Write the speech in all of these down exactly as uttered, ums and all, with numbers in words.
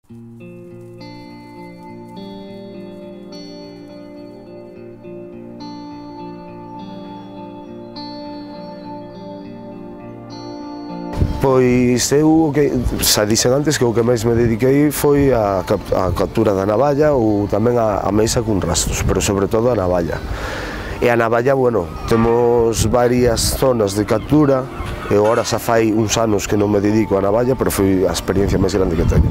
Pois eu, que, xa dixen antes que o que máis me dediquei foi a, a captura da navalla ou tamén a, a mesa con rastros, pero sobre todo a navalla. E a navalla, bueno, temos varias zonas de captura, e agora xa fai uns anos que non me dedico a navalla, pero foi a experiencia máis grande que teño.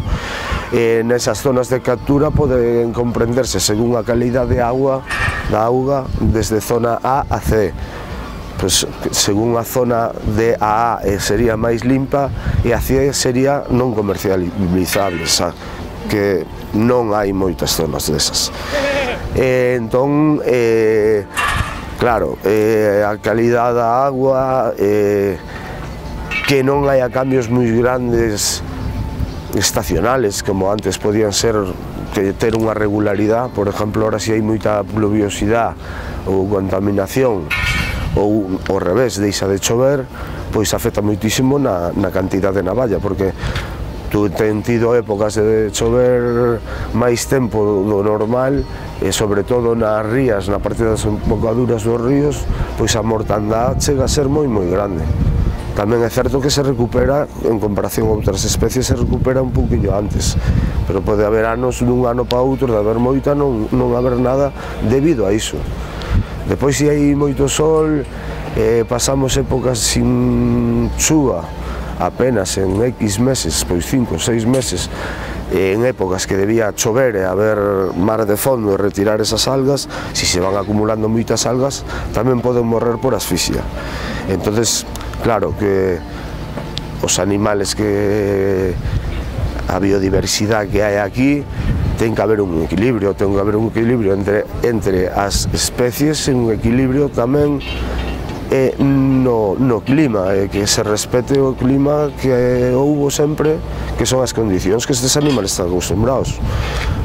E nesas zonas de captura poden comprenderse según a calidad de agua, da auga, desde zona A a C. Pues, según a zona de A A sería máis limpa e a C sería non comercializable, xa, que non hai moitas zonas desas. E, entón, eh, claro, eh, a calidad da agua, eh, que non haya cambios moi grandes estacionales, como antes podían ser, que ter unha regularidade. Por exemplo, ahora si hai moita pluviosidade ou contaminación, ou ao revés, deixa de chover, pois afecta moitísimo na, na cantidad de navalla, porque tú ten tido épocas de chover máis tempo do normal, e sobre todo nas rías, na parte das embocaduras dos ríos, pois a mortandade chega a ser moi moi grande. Tamén é certo que se recupera, en comparación a outras especies, se recupera un pouquinho antes, pero pode haber anos dun ano para outro, de haber moita, non, non haber nada debido a iso. Depois, se hai moito sol, eh, pasamos épocas sin chuva, apenas en X meses, pois cinco, seis meses, en épocas que debía chover e haber mar de fondo e retirar esas algas, se se van acumulando moitas algas, tamén poden morrer por asfixia. Entonces, claro que os animales que... a biodiversidade que hai aquí, ten que haber un equilibrio, ten que haber un equilibrio entre, entre as especies e un equilibrio tamén eh, no, no clima, eh, que se respete o clima que houbo sempre, que son as condicións que estes animales están acostumbrados.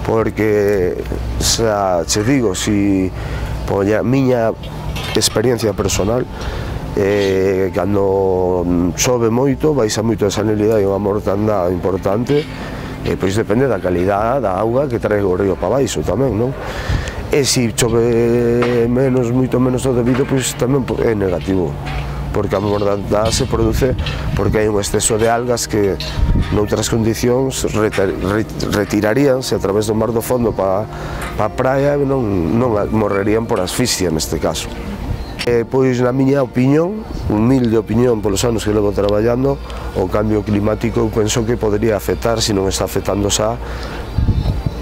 Porque, xa che digo, si por a miña experiencia personal, eh, cando chove moito, baixa moito a sanidade e unha mortandade importante, e pois depende da calidade da auga que trae o río para baixo tamén, non? E se chove menos, moito menos do debido, pois tamén é negativo, porque a mortandade se produce porque hai un exceso de algas que noutras condicións retiraríanse a través do mar do fondo para a praia e non, non morrerían por asfixia neste caso. Eh, pois, na miña opinión, humilde opinión polos anos que levo traballando, o cambio climático eu penso que podría afectar, se non está afectando xa,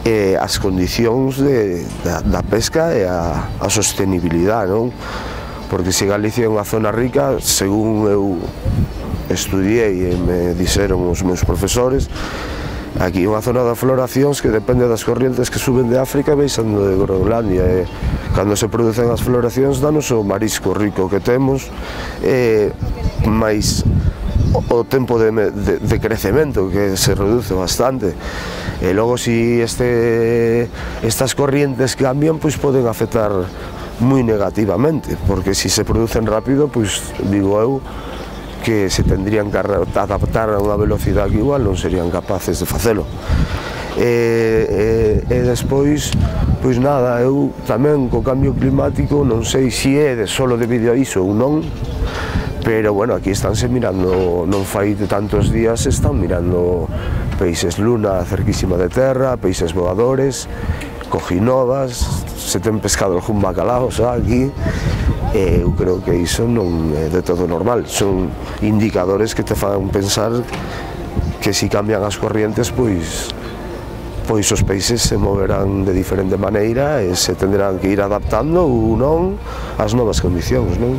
eh, as condicións de, da, da pesca e a, a sostenibilidade, non? Porque se Galicia é unha zona rica, según eu estudiei e me dixeron os meus profesores, aquí é unha zona de floracións que depende das corrientes que suben de África e baixando de Groenlandia, e cando se producen as floracións danos o marisco rico que temos, e máis o tempo de, de, de crecemento que se reduce bastante, e logo se este, estas corrientes cambian, pois poden afectar moi negativamente, porque se se producen rápido, pois digo eu que se tendrían que adaptar a unha velocidade que igual non serían capaces de facelo. E, e, e despois, pois nada, eu tamén co cambio climático non sei se é de solo debido a iso ou non, pero bueno, aquí estánse mirando, non fai de tantos días, están mirando peixes luna cerquísima de terra, peixes voadores, cojinovas, se ten pescado algún bacalao xa aquí, e eu creo que iso non é de todo normal, son indicadores que te fan pensar que se cambian as corrientes, pois pois os peixes se moverán de diferente maneira e se tendrán que ir adaptando ou non ás novas condicións, non?